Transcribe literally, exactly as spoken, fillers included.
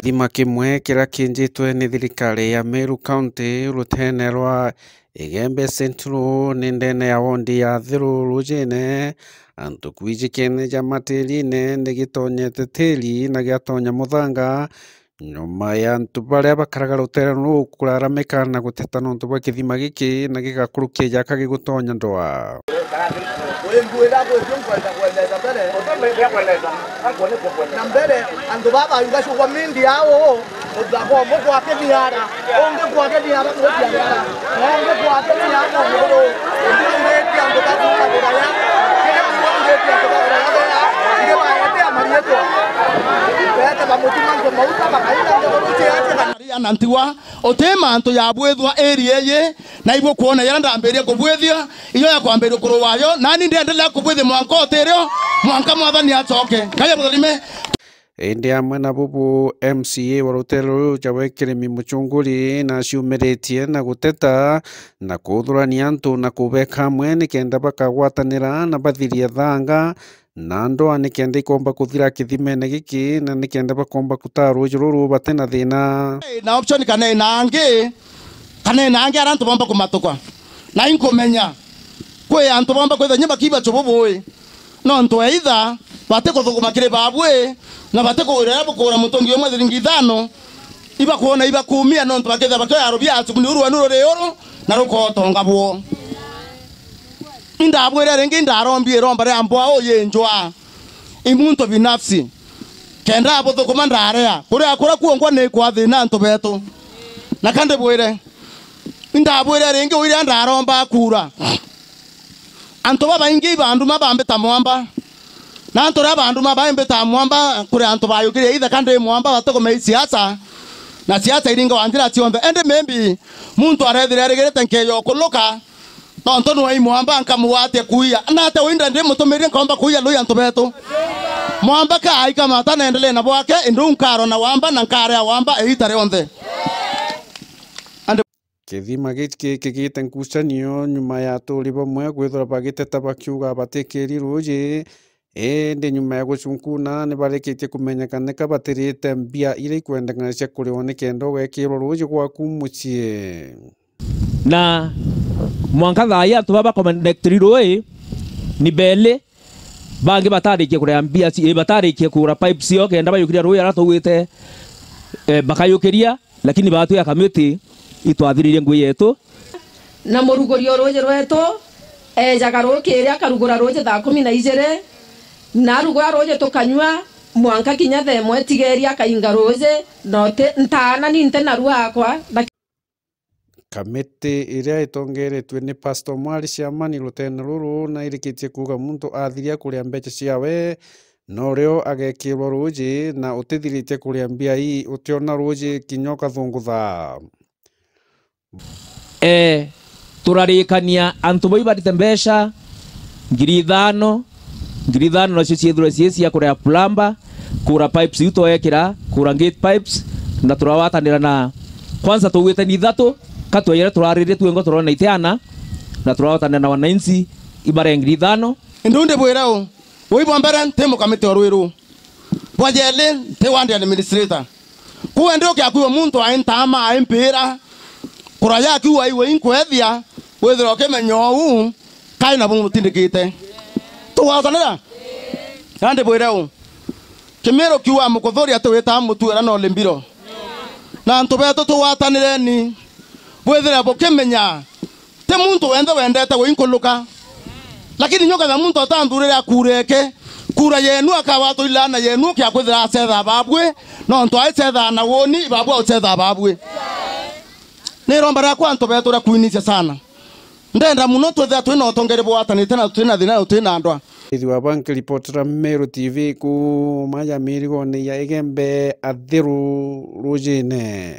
Kithima kimwe kiria kiinjitwe ni thirikari ya Meru County ruteene rwa Igembe Central ni ndene ya wondi ya Thiru Rujine, antu kwijikene ja matirine ni gitonyete tiri na giatonya muthanga, nyuma ya antu baria bakaraga ruteere ruu kuraramika na guteta nontu bwa kithima giki na gigakurukia jaka gigutonya ndwaa. Na mbere, antu baba baigacugwa mindi yao, muthako umwe kwa kithiara, ungi kwa kithiara, kwa kithiara, na ungi kwa kithiara, muguru. Ndireti antu bakukagira ya, kiri kuuga ndireti antu bakukagira ya, kiri baete amarietwa. Baete bamutuma antu mauta, bakaita nthiguru ciaje, kana Maria na Ntigwa, uti mantu ya bwithwa area iyi, na ibukwona yaria ndambirie kubwithia, iyo ya kwambiria kurua wayo, nani ndiendelea kubwithia mwanka utirio, mwanka Mwathani acoke. Ngai amutharime. Indi amwe na bubu, M C A wa ruteere ruu ja Wekirimi Muchunguri naciumiritie na guteta na kuthurania antu na kubeka amwe nikenda bakagwatanira na bathirie thanga na ndwaa nikenda ikomba kuthira kithimene giki na nikenda bakomba kutaa ruuji ruru bati na thina. Na option kana ina angi, kana ina angi aria antu bomba kumatuka. Na inkumenya kwi antu bomba kwithira kinya bakiiba chubu bui. Nontu either bati kuthuguma kiri babui, na bati kuwira riria bukugura mutungi umwe thiringi ithano, ibakwona ibakumia nontu bakethira bakioya rubia acuku ni uru wenu ruri uru, na rukotonga bwo. Indabwire ringi, indarombie iromba ria mbwa uyi njwa. I muntu binafsi. Kenda abuthukuma ndarea. Kuria kuria kuongwa ni kwa thina antu betu. Na kandi bwire. Indabwire ringi, uiria ndaromba kura. Antu babaingi ibanduma bambita mwamba. Na antu ria banduma baimbita mwamba, kuri antu bayukirie ithe kandi mwamba batukumei siasa. Na siasa iringa wa njira cionthe. Indi maybe muntu arethire arigirite nkeyo kuluka. Nontu nwe imwamba nkamugwatia kuiya. Na ate uinda ndimutumirie nkomba kuiya lui antu betu. Mwamba ka aikamata na endelee na bwake, indi u nkarwa na wamba na nkarea wamba iita rionthe. Andi Kithima giki kigite ngucanio nyuma ya aturi bamwe kwithirwa bagiteta bakiuga batikiri ruuji, indi nyuma ya gucunkuna ni barikitie kumenyeka nika batirite mbia iria ikwendekana cia kuriwa nikenda ugekirwa ruuji gwaku mucii. Na mwanka thaa ii antu baba bakomenekitiri ruui ni beli, bangi batarikie kuria mbia ci-, eh, batarikie kugura pipes cio kenda bayukiria ruui aria twaugite, eh, bakayukiria, lakini batwi ya kamiti itwathiririe ngui yetu. Na muruguri o ruuji rwetu eejaga ruukiri akarugura ruuji thaa kumi na ijiri, na arugura ruuji tukanyua mwanka kinya thaa imwe tigeri akainga ruuji, na uti ntaana ni nti narua akwa, na Kamiti iria itongeretue ni Pastor Mwari Ciamani ruteene ruru na irikitie kuuga muntu athiria kuria mbeca ciawe, no rio agekirwa ruuji na utithiritie kuria mbia ii utiona ruuji kinya ukathungutha. Ee, turarikania antu bau ibarite mbeca ngiri ithano, ngiri ithano nacio ciethirwe cii cia kuria plumber, kugura pipes iu twekira, kugura gate pipes, na turawatanira na, kwanza tugwite ni ithatu, ka tweyere turaririe twengo turona itiana, na turawatanira na wananchi ibare ngiri ithano. Indi undi bwira u, ui bwa mbere nti mukamiti o rwiru. Bwa jeli, nti ward administrator. Kuu endi ukiakwigua muntu ai ntaama, ai mpira, kura yakiu aiwe inkwethia, withirwa ukimenya uu, kai na bumutindikite. Tugwatanira? Nandi bwire u, Kimiru kiu wa Mukuthuria tiwitaa mutuira no limbiro. Na antu betu tugwatanireni, bwithire bukimenya, ti muntu wenthe wendete winkuluka. Lakini nyukethira muntu atanthurire akura eke, kura yenu akawatwilana yenu kia kwithira acetha babwi, nontu aicethaa na woni, babwi aucetha babwi. Ni iromba riakwa antu betu ria kwinithia sana. Ndenda muno twithira twina utongeri bwatanite na tutina thina na tutina ndwa. Ithi wa bank reporter Meru T V kuuma ya mirigone ya Igembe Athiru Rujine.